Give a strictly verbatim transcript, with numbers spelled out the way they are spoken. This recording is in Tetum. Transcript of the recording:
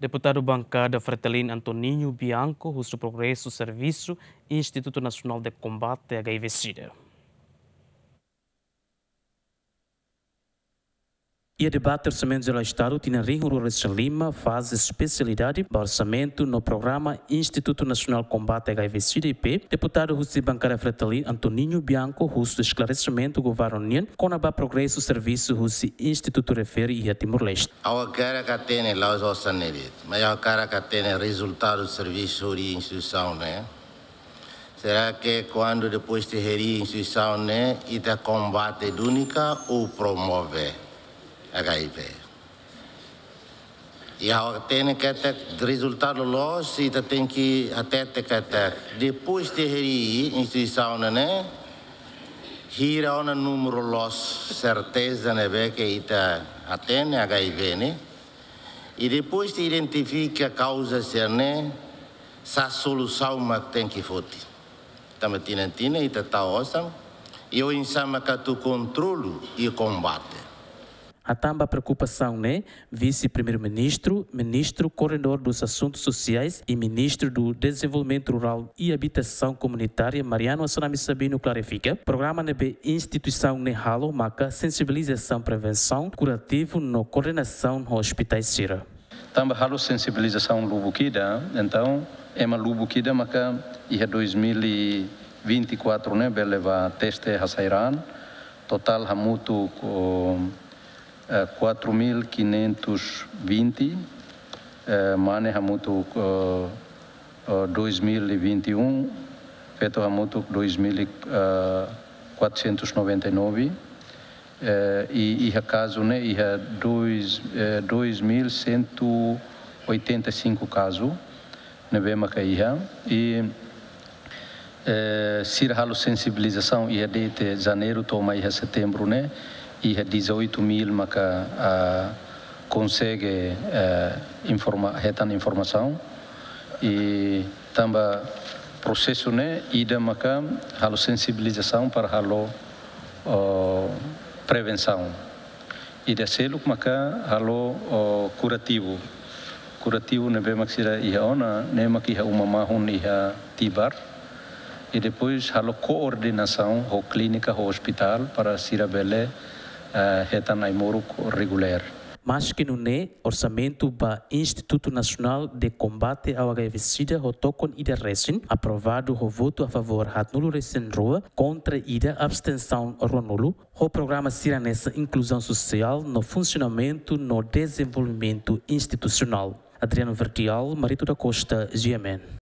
Deputadu Bankada Fretilin Antoninho Bianco husu progresu servisu Institutu Nasionál de Kombate H I V SIDA. Iha debate Orsamentu Jerál Estadu tinan rihun rua resin lima, faze espesialidade ba orsamentu no programa Institutu Nasionál Kombate H I V SIDA I P, deputadu husi Bankada Fretilin Antoninho Bianco husu esklaresimentu governu nian kona-ba progresu servisu husi institutu refere iha Timor-Leste. Ha'u hakarak hatene la'ós osan ne'e de'it, mas ha'u hakarak hatene rezultadu servisu hodi instituisaun ne'e. Será que kuandu depois de heri instituisaun ne'e, ita kombate duni ka ou promove H I V? I ha'u hatene katak rezultadu loos, ita tenke hatete katak depois de heri instituisaun ne'e, hira ona númeru loos, serteza ne'ebé ke ita hatene H I V ne'e. I depois de identifika kauza sira-ne'e, sá solusaun mak tenke foti. Tanba tinan-tinan ita tau osan, i oinsá mak atu kontrolu i kombate. Hatán ba preokupasaun ne'e, Vise-Primeiru-Ministru, Ministru Koordenadór dos Assuntos Sociais i Ministru do Desenvolvimento Rural i Abitasaun Komunitária, Mariano Assanami Sabino, klarifika, programa ne'ebé instituisaun ne'e halo maka sensibilizasaun, prevensaun, kurativu no koordenasaun ho ospitais sira. Tanba halo sensibilizasaun lubuk ida, entaun, ema lubuk ida maka iha dois mil e vinte e quatro ne'e bele bá teste hasai raan, totál hamutuk, eh, quatro mil quinhentos vinte, eh, mane hamutuk, eh, eh, dois mil e vinte e um, feto hamutuk dois mil e, eh, quatrocentos noventa e nove, eh, i iha kazu ne'e iha dois, eh, dois mil cento oitenta e cinco kazu ne'ebé maka iha. I, eh, sira halo sensibilizasaun iha desde janeiru to'o mai iha setembru ne'e, iha dezoito mil maka, ah, konsege, eh, informa-, hetan informasaun. I tanba prosesu ne'e ida maka halo sensibilizasaun para halo, oh, prevensaun. Ida seluk maka halo, oh, kurativu. Kurativu ne'ebé mak sira iha ona, ne'e mak iha uma mahun iha Tibar. I depois halo koordenasaun ho klínika, ho ospitál, para sira bele, eh, hetan ai-moruk regulár. Maski nune'e, orsamentu ba Institutu Nasionál de Kombate ao H I V SIDA ho tokon ida resin, aprovadu ho votu a favór haatnulu resin rua, kontra ida, abstensaun ruanulu, ho programa sira hanesan inkluzaun sosiál no funsionamentu no dezenvolvimentu institusionál. Adriano Verdial, Marito da Costa, G M N.